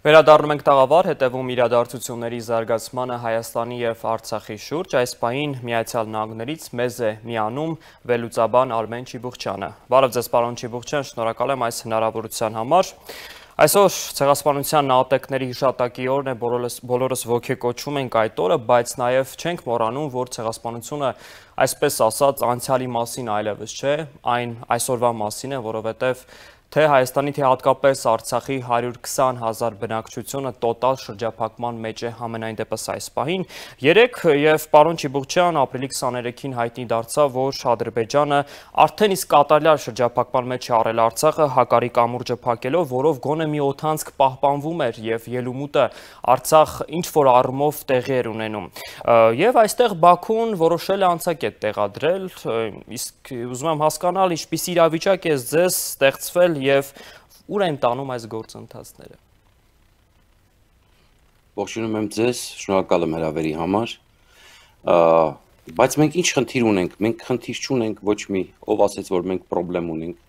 Վերադառնում ենք տաղավար, հետևում իրադարձությունների զարգացմանը Հայաստանի և Արցախի շուրջ, այս պահին Միացյալ Նահանգներից մեզ է միանում վերլուծաբան Արմեն Չիբուխչյանը։ Բարև ձեզ, պարոն Չիբուխչյան, շնորհակալ եմ այս հնարավորության համար։ Այսօր ցեղասպանության նահատակների հիշատակի օրն է, բոլորս ոգեկոչում ենք այդ օրը, բայց նաև չենք մոռանում, որ ցեղասպանությունը այսպես ասած անցյալի մասին այլևս չէ, այն այսօրվա մասին է, որովհետև թե Հայաստանի, թե հատկապես Արցախի 120,000 բնակչությունը տոտալ շրջափակման մեջ է համենայն դեպս այս պահին։ Երեկ և պարոն Չիբուխչյան ապրիլի 23-ին հայտնի դարձավ, որ Ադրբեջանը արդեն իսկ կատարյալ շրջափակման մեջ է առել Արցախը հակառի կամուրջը փակելով, որով գոնե մի օդանցք պահպանվում էր և ելումուտը Արցախ ինչ-որ առումով տեղի էր ունենում։ Եվ այստեղ Բաքուն որոշել է անցակետ տեղադրել, իսկ ուզում եմ հասկանալ ինչպիսի իրավիճակ է ձեզ ստեղծվել և ուր են տանում այս գործընթացները։ Ողջունում եմ ձեզ, շնորհակալ եմ հրավերի համար, բայց մենք ինչ խնդիր ունենք, մենք խնդիր չունենք ոչ մի, ով ասեց, որ մենք պրոբլեմ ունենք,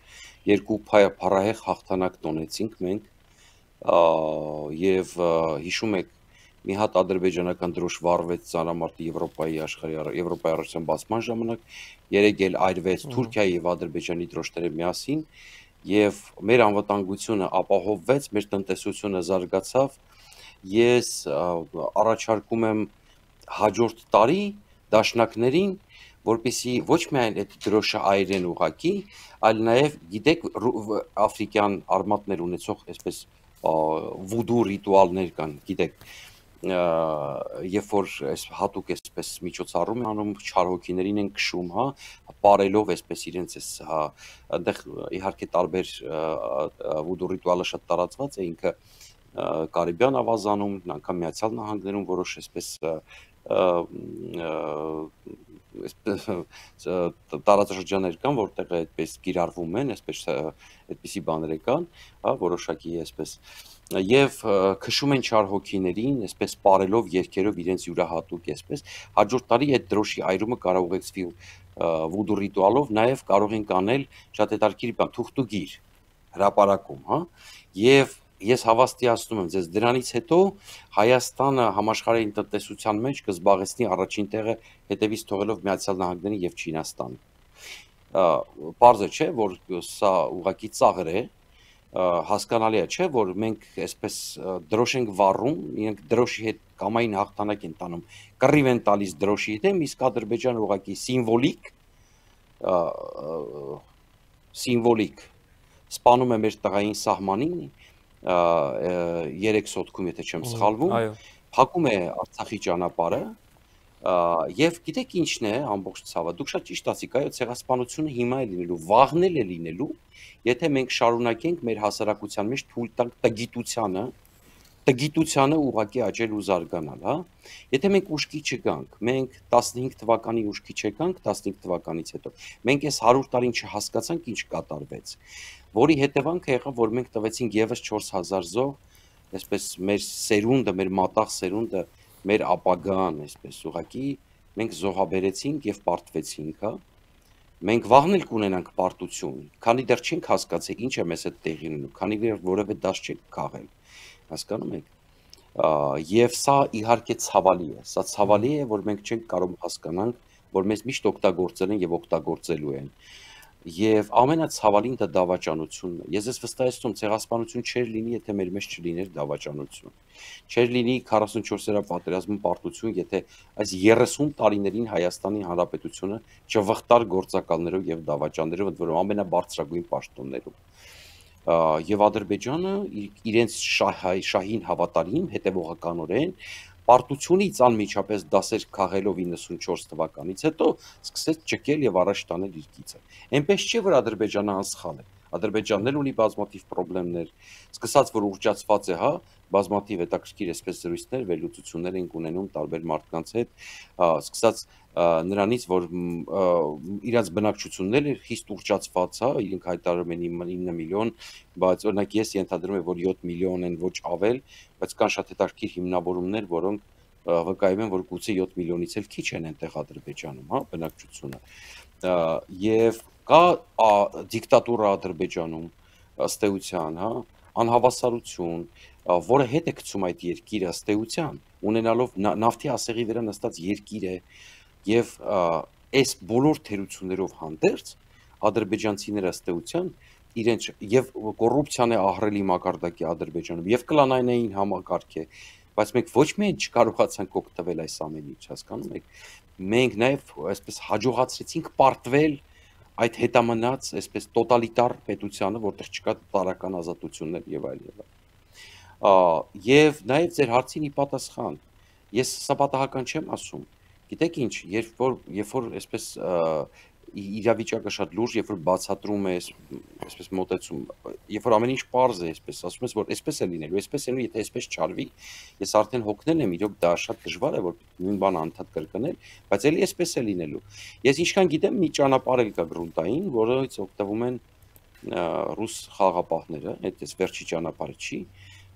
երկու փառահեղ հաղթանակ տոնեցինք մենք, և հիշում եք, մի հատ ադրբեջանական դրոշ վառվեց ծանրամարտի Եվրոպայի առաջության բացման ժամանակ, երեկ էլ այրվեց Թուրքիայի և Ադրբեջանի դրոշները միասին, և մեր անվտանգությունը ապահովվեց, մեր տնտեսությունը զարգացավ, ես առաջարկում եմ հաջորդ տարի դաշնակներին, որպեսզի ոչ միայն այդ դրոշը այրեն ուղղակի, այլ նաև գիտեք աֆրիկյան արմատներ ունեցող այսպես վուդու ռիտուալներ կան, գիտեք, երբ որ հատուկ այսպես միջոցառում են անում, չար հոգիներին են քշում, պարելով այսպես իրենց այնտեղ իհարկե տարբեր վուդու ռիտուալը շատ տարածված է, ինքը Կարիբյան ավազանում, անգամ Միացյալ Նահանգներում որոշ այսպես տարածաշրջաններ կան, որտեղ այդպես կիրառվում են, այդպիսի բաներ կան, որոշակի այսպես եւ քշում են չար հոգիներին, այսպես պարելով երգերով իրենց յուրահատուկ այսպես հաջորդ տարի այդ դրոշի այրումը կարող ուղեկցվի վուդու ռիտուալով, նաեւ կարող ենք անել շատ հետաքրքիր բան, թուղթուգիր հրապարակում, եւ ես հավաստիացնում եմ ձեզ դրանից հետո Հայաստանը համաշխարհային տնտեսության մեջ կզբաղեցնի առաջին տեղը հետևից թողելով Միացյալ Նահանգներին եւ Չինաստանը։ Պարզ է, չէ, որ սա ուղղակի ծաղր է, հասկանալի է, չէ, որ մենք այսպես դրոշ ենք վառում, իրենք դրոշի հետ կամային հաղթանակ են տանում, կռիվ են տալիս դրոշի հետ, իսկ Ադրբեջանը ուղղակի սիմվոլիկ սպանում է մեր տղային սահմանին, 3 սոտքում, եթե չեմ սխալվում, փակում է Արցախի ճանապարհը, եւ գիտեք ինչն է ամբողջ ցավը, դուք շատ ճիշտ ասիք, այո, ցեղասպանությունը հիմա է լինելու, վաղն է լինելու, եթե մենք շարունակենք մեր հասարակության մեջ թույլ տանք տգիտությանը ուղղակի աճել ու զարգանալ, Եթե մենք ուշքի չգանք, մենք 15 թվականի ուշքի չեկանք, 15 թվականից հետո, մենք այս 100 տարին չհասկացանք ինչ կատարվեց, որի հետևանքը եղավ, որ մենք տվեցինք եւս 4000 զոհ, այսպես մեր սերունդը, մեր մատաղ սերունդը, մեր ապագան, այսպես ուղղակի մենք զոհաբերեցինք եւ պարտվեցինք, Մենք վաղն էլ կունենանք պարտություն, քանի դեռ չենք հասկացել ինչ է մեզ հետ տեղի ունենում, քանի դեռ որևէ դաս չենք քաղել, հասկանում եք, եւ սա իհարկե ցավալի է, սա ցավալի է, որ մենք չենք կարող հասկանանք, որ մեզ միշտ օգտագործել են եւ օգտագործելու են, եւ ամենացավալին դա դավաճանությունն է, ես վստահեցնում ցեղասպանություն չէր լինի, եթե մեր մեջ չլիներ դավաճանություն, չէր լինի 44-րդ պատերազմի պարտություն, եթե այս 30 տարիներին Հայաստանի Հանրապետությունը չվխտար գործակալներով եւ դավաճաններով, ընդ որում ամենաբարձրագույն պաշտոններում, եւ Ադրբեջանը իրենց շահին հավատարիմ հետեւողականորեն պարտությունից անմիջապես դասեր քաղելով 94 թվականից հետո սկսեց ճկել եւ առաջ տանել իր գիծը։ Այնպես չէ, որ Ադրբեջանը անսխալ է։ Ադրբեջանն էլ ունի բազմաթիվ խնդիրներ, սկսած որ ուռճացված է, բազմաթիվ հետաքրքիր այսպես զրույցներ, վերլուծություններ ենք ունենում տարբեր մարդկանց հետ, սկսած նրանից, որ իրաց բնակչությունները խիստ ուռճացված, իրենք հայտարարում են 9 միլիոն, բայց օրինակ ես ենթադրում եմ, որ 7 միլիոն են ոչ ավել, բայց կան շատ հետաքրքիր հիմնավորումներ, որոնք վկայում են, որ գուցե 7 միլիոնից էլ քիչ են այնտեղ Ադրբեջանում, բնակչությունը։ Եվ կա դիկտատուրա Ադրբեջանում, ըստ էության, անհավասարություն, որը հետ է գցում այդ երկիրը ըստ էության, ունենալով նավթի ասեղի վրա նստած երկիր է եւ այս բոլոր թերություններով հանդերձ ադրբեջանցիները ըստ էության իրենց եւ կոռուպցիան է ահռելի մակարդակի Ադրբեջանում եւ կլանայնային համակարգ է, բայց մենք ոչ միայն չկարողացանք օգտվել այս ամենից, հասկանում եք, մենք նաեւ այսպես հաջողացրեցինք պարտվել այդ հետամնաց այսպես տոտալիտար պետությանը, որտեղ չկա տարական ազատություններ եւ այլն։ Եվ նաեւ ձեր հարցին ի պատասխան, ես սա պատահական չեմ ասում։ Գիտեք ինչ, երբ որ այսպես իրավիճակը շատ լուրջ, երբ որ բացատրում է այսպես մոտեցում, երբ որ ամեն ինչ պարզ է, այսպես ասում ես, որ այսպես է լինելու, այսպես է լինելու, եթե այսպես չարվի, ես արդեն հոգնել եմ, իրոք դա շատ դժվար է, որ նույն բանը անդադ կրկնել, բայց էլի այսպես է լինելու։ Ես ինչքան գիտեմ, մի ճանապարհ էլ կա գրունտային, որից օգտվում են ռուս խաղաղապահները, այդ վերջի ճանապարհը չի,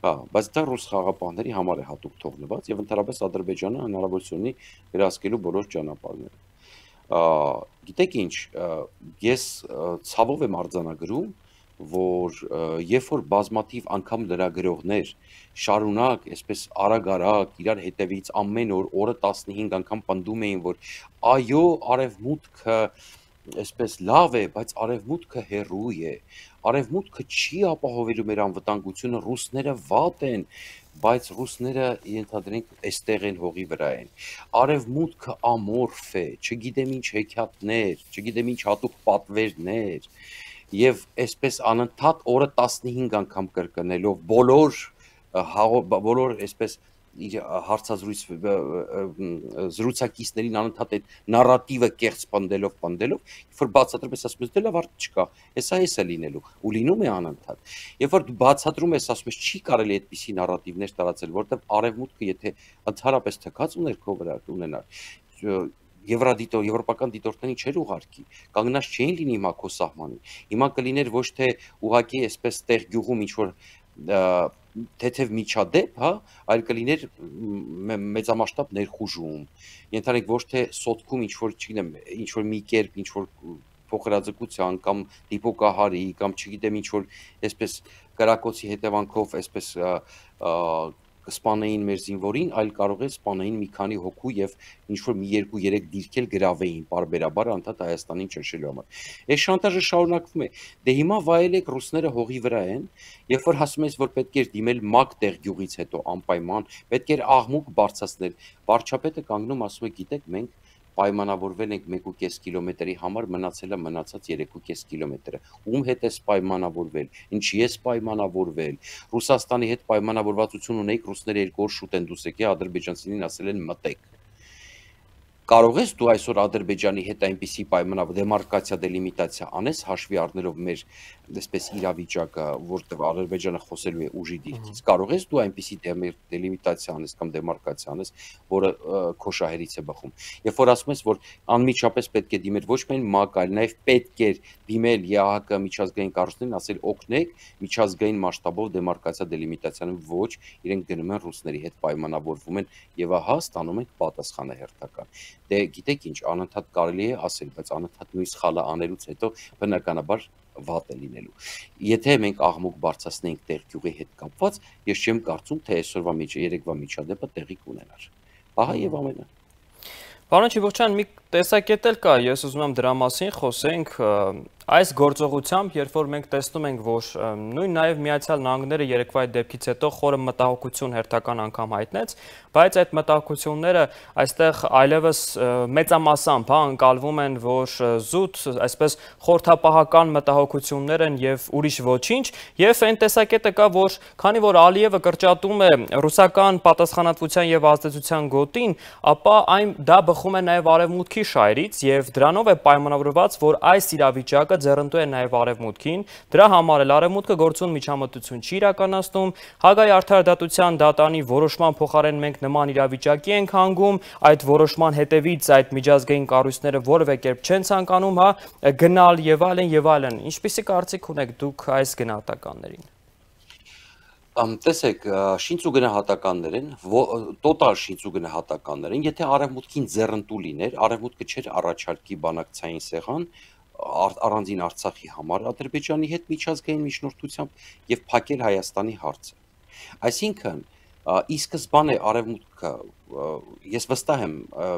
բայց դա ռուս խաղաղապահների համար է հատուկ թողնված եւ ընդհանրապես Ադրբեջանը հնարավորություն ունի վերահսկելու բոլոր ճանապարհները։ Գիտեք ինչ, ես ցավով եմ արձանագրում, որ երբ որ բազմաթիվ անգամ լրագրողներ շարունակ, այսպես արագ-արագ իրար հետևից ամեն օրը 15 անգամ պնդում էին, որ այո, արևմուտքը այսպես լավ է, բայց արևմուտքը հեռու է, արևմուտքը չի ապահովելու մեր անվտանգությունը, ռուսները վատ են, բայց ռուսները ենթադրենք այստեղ են հողի վրա են, արևմուտքը ամորֆ է, չգիտեմ ինչ հեքիաթներ, չգիտեմ ինչ հատուկ պատվերներ, եւ այսպես անընդհատ օրը 15 անգամ կրկնելով բոլոր այսպես հարցազրույց զրուցակիցներին անընդհատ այդ նարատիվը կեղծ պնդելով, երբ որ բացատրում ես ասում ես դե լավ արդ չկա, հեսա է լինելու ու լինում է անընդհատ։ Երբ որ բացատրում ես ասում ես չի կարելի այդպիսի նարատիվներ տարածել, որտեղ արևմուտքը եթե ընդհանրապես թքած ուներ քո վրա ունենար եվրոպական դիտորդներին չէր ուղարկի, կանգնած չէին լինի հիմա քո սահմանին։ Հիմա կլիներ ոչ թե ուղակի այսպես տեղ գյուղում ինչ որ թեթև միջադեպ, հա, այլ կլիներ մեծամասշտաբ ներխուժում։ Ենթադրենք ոչ թե սոտքում ինչ որ, չգիտեմ, ինչ որ մի կերպ, ինչ որ փոխհրաձգության կամ դիպոկահարի կամ չգիտեմ ինչ որ այսպես կրակոցի հետևանքով այսպես կսպանեին մեր զինվորին, այլ կարող է սպանեին մի քանի հոգու եւ ինչ որ մի 2-3 դիրքել գրավեին պարբերաբար անդադ Հայաստանին ճնշելու համար։ Այս շանտաժը շարունակվում է։ Դե հիմա վայելեք ռուսները հողի վրա են, երբ որ ասում ես որ պետք է դիմել մակ տեղ գյուղից հետո անպայման, պետք է աղմուկ բարձրացնել։ Վարչապետը կանգնում ասում է, գիտեք, մենք պայմանավորվել ենք 1.5 կիլոմետրի համար, մնացել է մնացած 3.5 կիլոմետրը։ Ում հետ ես պայմանավորվել, ինչի ես պայմանավորվել։ Ռուսաստանի հետ պայմանավորվածություն ունեիք, ռուսները 2 օր շուտ են դուրս եկել, ադրբեջանցիներին ասել են մտեք։ Կարող ես դու այսօր Ադրբեջանի հետ այնպիսի դեմարկացիա, դելիմիտացիա անես, հաշվի առնելով մեր այսպես իրավիճակը, որտեղ Ադրբեջանը խոսելու է ուժի դիրքից։ Կարող ես դու այնպիսի դելիմիտացիա անես կամ դեմարկացիա անես, որը քո շահերից է բխում։ Երբ որ ասում ես, որ անմիջապես պետք է դիմել ոչ միայն ՄԱԿ, այլ նաև պետք է դիմել ԵԱՀԿ միջազգային կառույցներին, ասել օգնեք միջազգային մասշտաբով դեմարկացիա, դելիմիտացիան ոչ, իրենք գնում են ռուսների հետ պայմանավորվում են եւ ահա ստանում են պատասխանը հերթական։ Դե գիտեք ինչ, անընդհատ կարելի է ասել, բայց անընդհատ նույն սխալը անելուց հետո բնականաբար վատ է լինելու։ Եթե մենք աղմուկ բարձրացնենք տեղ գյուղի հետ կապված, ես չեմ կարծում, թե այսօրվա երեկվա միջադեպը տեղի կունենար։ Ահա եւ ամենը։ Պարոն Չիբուխչյան, մի տեսակետ էլ կա, ես ուզում եմ դրա մասին խոսենք, այս գործողությամբ, երբ որ մենք տեսնում ենք, որ նույն նաև Միացյալ Նահանգները երեկվա դեպքից հետո խորը մտահոգություն հերթական անգամ հայտնեց, բայց այդ մտահոգությունները այստեղ այլևս մեծամասամբ ընկալվում են, որ զուտ, այսպես խորհրդապահական մտահոգություններ են եւ ուրիշ ոչինչ, եւ այն տեսակետը կա, որ քանի որ Ալիևը կրճատում է ռուսական պատասխանատվության եւ ազդեցության գոտին, ապա դա բխում է նաև արևմուտքի շահերից եւ դրանով է պայմանավորված, որ այս իրավիճակը ձեռնտու է նաև արևմուտքին, դրա համար էլ արևմուտքը գործուն միջամտություն չի իրականացնում, Հագայի արդարադատության դատանի որոշման փոխարեն մենք նման իրավիճակի ենք հանգում, այդ որոշման հետևից այդ միջազգային կառույցները որևէ կերպ չեն ցանկանում, գնալ եւ այլն եւ այլն։ Ինչպիսի կարծիք ունեք դուք այս գնահատականներին։ Տեսեք, շինց ու գնահատականներ են, տոտալ շինց ու գնահատականներ են, եթե արևմուտքին ձեռնտու լիներ, արևմուտքը չէր առաջարկի բանակցային սեղան, առանձին Արցախի համար Ադրբեջանի հետ միջազգային միջնորդությամբ եւ փակել Հայաստանի հարցը։ Այսինքն ի սկզբանե արևմուտքը ես վստահ եմ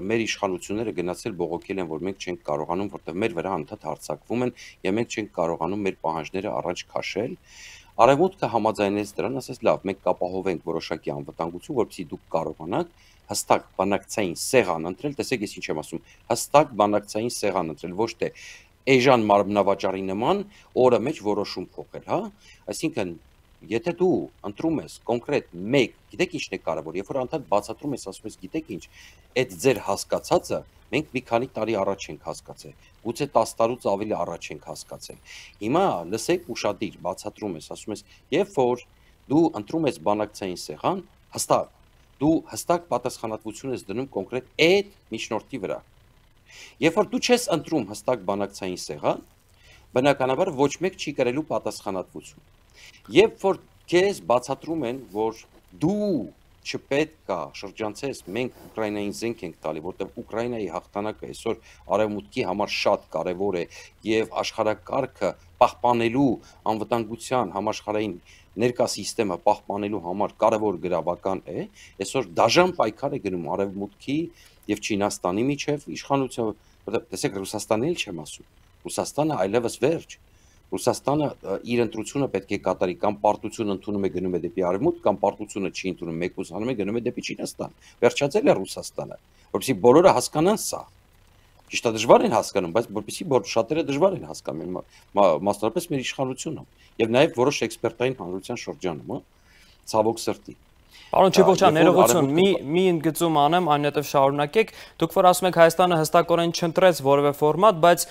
մեր իշխանությունները գնացել բողոքել են, որ մենք չենք կարողանում, որտեղ մեր վրա անդադ հարձակվում են եւ մենք չենք կարողանում մեր պահանջները առաջ քաշել։ Արևմուտքը համաձայնեց դրան, ասաց լավ, մենք կապահովենք որոշակի անվտանգություն, որպեսզի դուք կարողանաք հստակ բանակցային սեղան ընտրել, տեսեք ես ինչ եմ ասում, հստակ բանակցային սեղան ընտրել, ոչ թե էժան մարմնավաճառի նման օրը մեջ որոշում փոխել, հա? Այսինքն եթե դու ընտրում ես կոնկրետ մեկ, գիտեք ինչն է կարևոր, երբ որ անդադ բացատրում ես, ասում ես, գիտեք ինչ, այդ ձեր հասկացածը մենք մի քանի տարի առաջ ենք հասկացել, գուցե 10 տարուց ավելի առաջ ենք հասկացել։ Հիմա լսեք ուշադիր, բացատրում ես, ասում ես, երբ որ դու ընտրում ես բանակցային սեղան, դու հստակ պատասխանատվություն ես դնում կոնկրետ այդ միջնորդի վրա։ Երբ որ դու չես ընտրում հստակ բանակցային սեղան, բնականաբար ոչ մեկ չի կրելու պատասխանատվություն։ Երբ որ քեզ բացատրում են, որ դու չպետք է շրջանցես, մենք Ուկրաինային զենք ենք տալի, որտեղ Ուկրաինայի հաղթանակը այսօր արևմուտքի համար շատ կարևոր է եւ աշխարհակարգը պահպանելու անվտանգության համաշխարհային ներկա համակարգը պահպանելու համար կարևոր գրավական է, այսօր դաժան պայքար է գնում արևմուտքի եւ Չինաստանի միջև իշխանությունը, որտեղ տեսեք Ռուսաստանին էլ չեմ ասում, Ռուսաստանը այլևս վերջ, Ռուսաստանը իր ընտրությունը պետք է կատարի, կամ պարտություն ընդունում է գնում է դեպի արևմուտք, կամ պարտությունը չի ընդունում, մեկուսանում է գնում է դեպի Չինաստան, վերջացել է Ռուսաստանը, որովհետեւ բոլորը հասկանան սա, ճիշտ է դժվար են հասկանում, բայց որովհետեւ շատերը դժվար են հասկանում, մասնավորապես մեր իշխանությունը, եւ նաեւ որոշ էքսպերտային հանրության շրջանում, ցավոք սրտի։ Պարոն Չիբոկյան, ներողություն, մի ընդգծում անեմ, այնուհետև շարունակեք, դուք որ ասում եք Հայաստանը հստակորեն չընտրեց որևէ ֆորմատ, բայց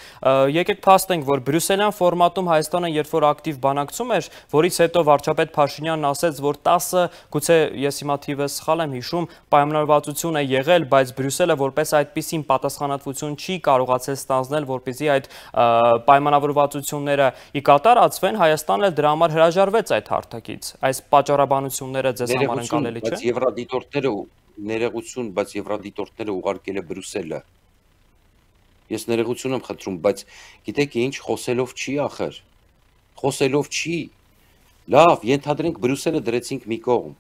եկեք փաստենք, որ բրյուսելյան ֆորմատում Հայաստանը երբ որ ակտիվ բանակցում էր, որից հետո վարչապետ Փաշինյանն ասեց, որ 10, գուցե ես հիմա թիվը սխալ եմ հիշում, պայմանավորվածություն է եղել, բայց Բրյուսելը որպես այդպիսին պատասխանատվություն չի կարողացել ստանձնել, որպեսզի այդ պայմանավորվածությունները ի կատարածվեն, Հայաստանն էլ դրա համար հրաժարվեց այդ հարթակից։ Այս պատճառաբանությունները ձեզ համար ընկալելի չէ։ Բայց եվրադիտորդները ներողություն, բայց եվրադիտորդները ուղարկել է Բրյուսելը։ Ես ներողություն եմ խնդրում, բայց գիտեք ինչ, խոսելով չի ախր։ Խոսելով չի։ Լավ, ենթադրենք Բրյուսելը դրեցինք մի կողմ։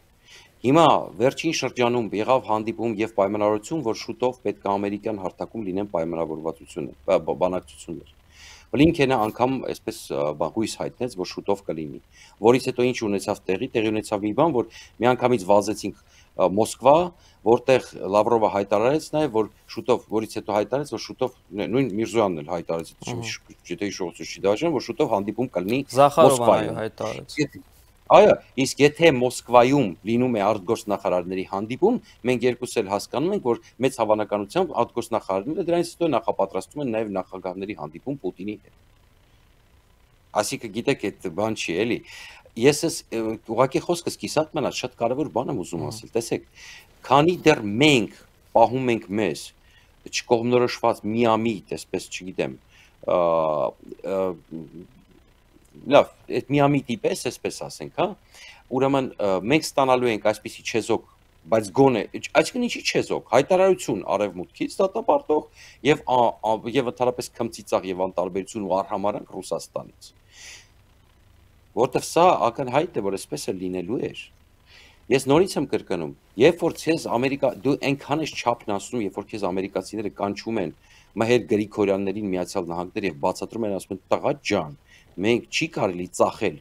Հիմա վերջին շրջանում եղավ հանդիպում եւ պայմանավորություն, որ շուտով պետք է ամերիկյան հարթակում լինեն պայմանավորվածություններ, բանակցություններ։ Բլինքենը անգամ այսպես հույս հայտնեց, որ շուտով կլինի, որից հետո ինչ ունեցավ տեղի ունեցավ մի բան, որ միանգամից վազեցինք Մոսկվա, որտեղ Լավրովը հայտարարեց նաև, որ շուտով, որից հետո հայտարարեց, որ շուտով նույն Միրզոյանն էլ հայտարարեց, եթե հիշողություն չի դաշնա, որ շուտով հանդիպում կլինի Մոսկվայում հայտարարեց։ Այո, իսկ եթե Մոսկվայում լինում է արտգործնախարարների հանդիպում, մենք երկուս էլ հասկանում ենք, որ մեծ հավանականությամբ արտգործնախարարները դրանից հետո նախապատրաստում են նաև նախագահների հանդիպում Պուտինի հետ։ Այսինքն գիտեք, այդ բան չի էլի։ Ես ուղղակի խոսքս կիսատ մնաց, շատ կարևոր բան եմ ուզում ասել, տեսեք, քանի դեռ մենք պահում ենք մեզ չկողմնորոշված միամիտ, այսպես չգիտեմ, լավ, այդ միամիտի պես, այսպես ասենք, հա, ուրեմն մենք ստանալու ենք այսպիսի չեզոք, բայց գոնե, այսինքն ինչի չեզոք, հայտարարություն արևմուտքից դատապարտող եւ ընդհանրապես քմծիծաղ եւ անտարբերություն ու արհամարհանք Ռուսաստանից։ Որտեւ սա ակնհայտ է, որ այսպես է լինելու էր։ Ես նորից եմ կրկնում, երբ որ քեզ դու այնքան ես չափն ասում, երբ որ քեզ ամերիկացիները կանչում են Մհեր Գրիգորյաններին Միացյալ Նահանգներ եւ բացատրում են, ասում են՝ «Տղա ջան, մենք չի կարելի ծախել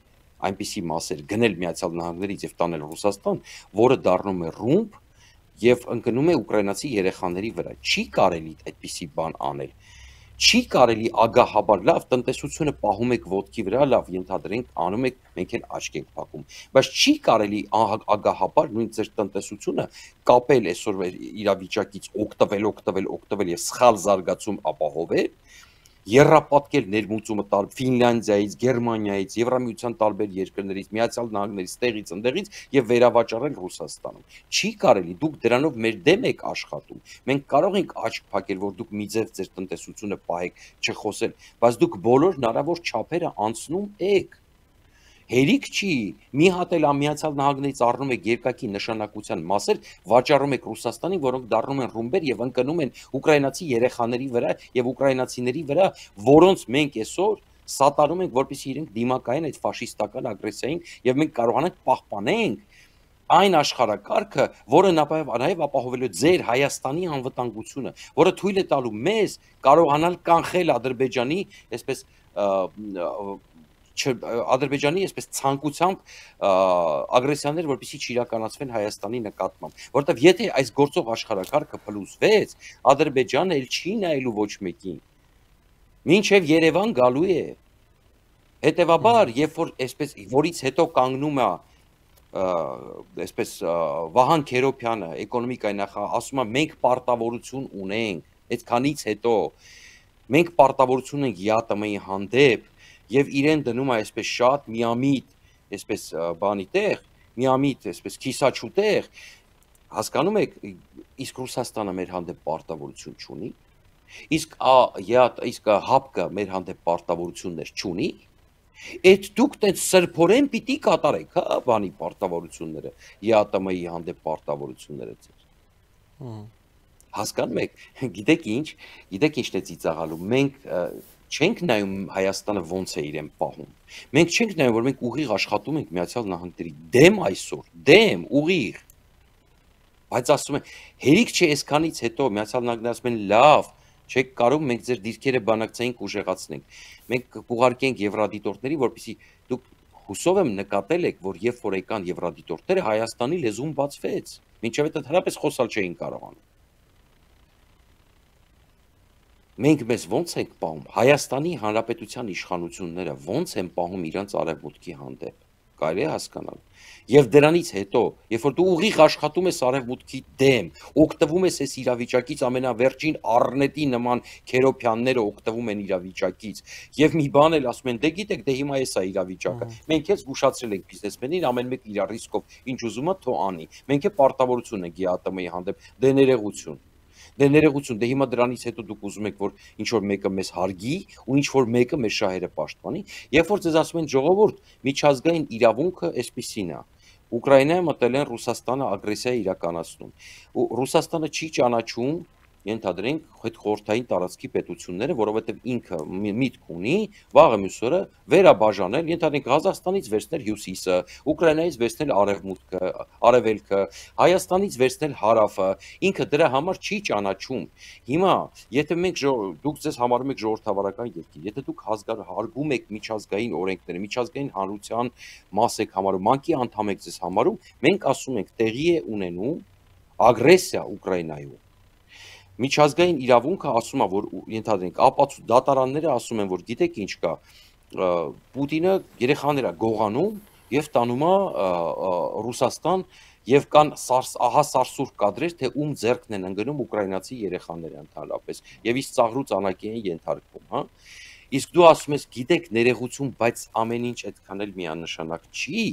այնպիսի մասեր, գնել Միացյալ Նահանգներից եւ տանել Ռուսաստան, որը դառնում է ռումբ եւ ընկնում է ուկրաինացի երեխաների վրա։ Չի կարելի այդպիսի բան անել։ Չի կարելի ագահաբար, լավ, տնտեսությունը պահում եք ոտքի վրա, լավ, ենթադրենք, անում եք, մենք էլ աչք ենք փակում, բայց չի կարելի ագահաբար նույն ձեր տնտեսությունը կապել այսօր իրավիճակից, օգտվել եւ սխալ զարգացում ապահովել, եռապատկել ներմուծումը Ֆինլանդիայից, Գերմանիայից, Եվրամիության տարբեր երկրներից, Միացյալ Նահանգներից, տեղից ընդեղից եւ վերավաճառել Ռուսաստանում։ Չի կարելի, դուք դրանով մեր դեմ եք աշխատում։ Մենք կարող ենք աչք փակել, որ դուք մի ձև ձեր տնտեսությունը պահեք, չխոսել, բայց դուք բոլոր հնարավոր չափերը անցնում եք։ Հերիք չի, մի հատ էլ Միացյալ Նահանգներից առնում եք երկակի նշանակության մասեր, վաճառում եք Ռուսաստանին, որոնք դառնում են ռումբեր եւ ընկնում են ուկրաինացի երեխաների վրա եւ ուկրաինացիների վրա, որոնց մենք այսօր սատարում ենք, որպեսզի իրենք դիմակայեն այդ ֆաշիստական ագրեսիային եւ մենք կարողանանք պահպանենք այն աշխարհակարգը, որը նաև ապահովելու ձեր Հայաստանի անվտանգությունը, որը թույլ է տալու մեզ կարողանալ կանխել Ադրբեջանի, այսպես այսպես ցանկությամբ ագրեսիաներ, որպեսզի չիրականացվեն Հայաստանի նկատմամբ, որովհետև եթե այս գործող աշխարհակարգը փլուզվեց, Ադրբեջանը էլ չի նայելու ոչ մեկին, մինչև Երևան գալու է, հետևաբար, երբ որ այսպես որից հետո կանգնում է այսպես Վահան Քերոբյանը, էկոնոմիկայի նախարար, ասում է մենք պարտավորություն ունենք, այդքանից հետո մենք պարտավորություն ենք ԵԱՏՄ-ի հանդեպ եւ իրեն դնում է այսպես շատ միամիտ, այսպես բանի տեղ, միամիտ, այսպես քիսաչու տեղ, հասկանում եք, իսկ Ռուսաստանը մեր հանդեպ պարտավորություն չունի, իսկ ՀԱՊԿ-ը մեր հանդեպ պարտավորություններ չունի, Այդ դուք տենց սրբորեն պիտի կատարեք, հա, բանի պարտավորությունները, ԵԱՏՄ-ի հանդեպ պարտավորությունները ձեր։ Հասկանում եք, գիտեք ինչն է ծիծաղալու, մենք չենք նայում Հայաստանը ոնց է իրեն պահում։ Մենք չենք նայում, որ մենք ուղիղ աշխատում ենք Միացյալ Նահանգների դեմ այսօր, դեմ, ուղիղ։ Բայց ասում են, հերիք չէ այսքանից հետո Միացյալ Նահանգները ասում են լավ, չեք կարող մենք ձեր դիրքերը բանակցային ուժեղացնենք։ Մենք կուղարկենք եվրադիտորդների, որպեսզի դուք հուսով եմ նկատել եք, որ երբ որ եկան եվրադիտորդները Հայաստանի լեզուն բացվեց, մինչև այդ հնարապես խոսալ չէին կարողանում։ Մենք մեզ ոնց ենք պահում, Հայաստանի Հանրապետության իշխանությունները ոնց են պահում իրանց արևմուտքի հանդեպ, կարելի է հասկանալ։ Եվ դրանից հետո, երբ որ դու ուղիղ աշխատում ես արևմուտքի դեմ, օգտվում ես այս իրավիճակից ամենավերջին առնետի նման Քերոբյանները օգտվում են իրավիճակից, եւ մի բան էլ ասում են, դե գիտեք, դե հիմա էս է իրավիճակը։ Մենք էլ զգուշացրել ենք բիզնեսմենին, ամեն մեկ իր ռիսկով ինչ ուզում է թող անի։ Մենք էլ պարտավորություն ենք ԵԱՏՄ-ի հանդեպ, դե ներողություն։ Դե ներողություն, դե հիմա դրանից հետո դուք ուզում եք, որ ինչ որ մեկը մեզ հարգի ու ինչ որ մեկը մեր շահերը պաշտպանի, երբ որ ձեզ ասում են ժողովուրդ, միջազգային իրավունքը այսպիսին է։ Ուկրաինայը մտել են Ռուսաստանը ագրեսիա իրականացնում։ Ու Ռուսաստանը չի ճանաչում, ենթադրենք այդ խորհրդային տարածքի պետությունները, որովհետև ինքը միտք ունի վաղը մյուս օրը վերաբաժանել, ենթադրենք Ղազախստանից վերցնել հյուսիսը, Ուկրաինայից վերցնել արևմուտքը, արևելքը, Հայաստանից վերցնել հարավը, ինքը դրա համար չի ճանաչում։ Հիմա, եթե դուք ձեզ համարում եք ժողովրդավարական երկիր, եթե դուք հարգում եք միջազգային օրենքները, միջազգային հանրության մաս եք համարում, ՄԱԿ-ի անդամ եք ձեզ համարում, մենք ասում ենք տեղի է ունենում ագրեսիա Ուկրաինայում։ Միջազգային իրավունքը ասում է, որ ենթադրենք ապացու դատարանները ասում են, որ գիտեք ինչ կա, Պուտինը երեխաներ է գողանում եւ տանում է Ռուսաստան եւ կան ահա սարսուռ կադրեր, թե ում ձեռքն են ընկնում ուկրաինացի երեխաները ընդհանրապես եւ իսկ ծաղրուց անակի են ենթարկվում, հա։ Իսկ դու ասում ես, գիտեք, ներողություն, բայց ամեն ինչ այդքան էլ միանշանակ չի։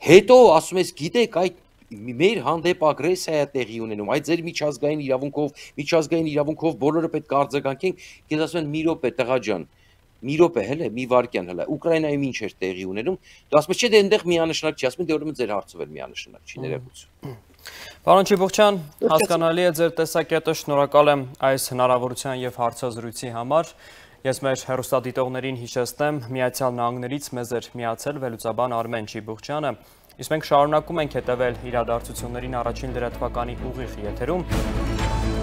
Հետո ասում ես, գիտեք, այդ մեր հանդեպ ագրեսիա է տեղի ունենում, այդ ձեր միջազգային իրավունքով բոլորը պետք է արձագանքենք, ես ասում եմ մի րոպե տղա ջան, մի րոպե հələ, մի վայրկյան հələ, Ուկրաինայում ինչ էր տեղի ունենում, դու ասում ես չէ, դե այնտեղ միանշանակ չի, ասում եմ դե ուրեմն ձեր հարցով էլ միանշանակ չի, ներողություն։ Պարոն Չիբուխչյան, հասկանալի է ձեր տեսակետը, շնորհակալ եմ այս հնարավորության եւ հարցազրույցի համար։ Ես մեր հեռուստադիտողներին հիշեցնեմ, Միացյալ Նահանգներից մեզ էր միացել վերլուծաբան Արմեն Չիբուխչյանը։ Իսկ մենք շարունակում ենք հետևել իրադարձություններին առաջին լրատվականի ուղիղ եթերում։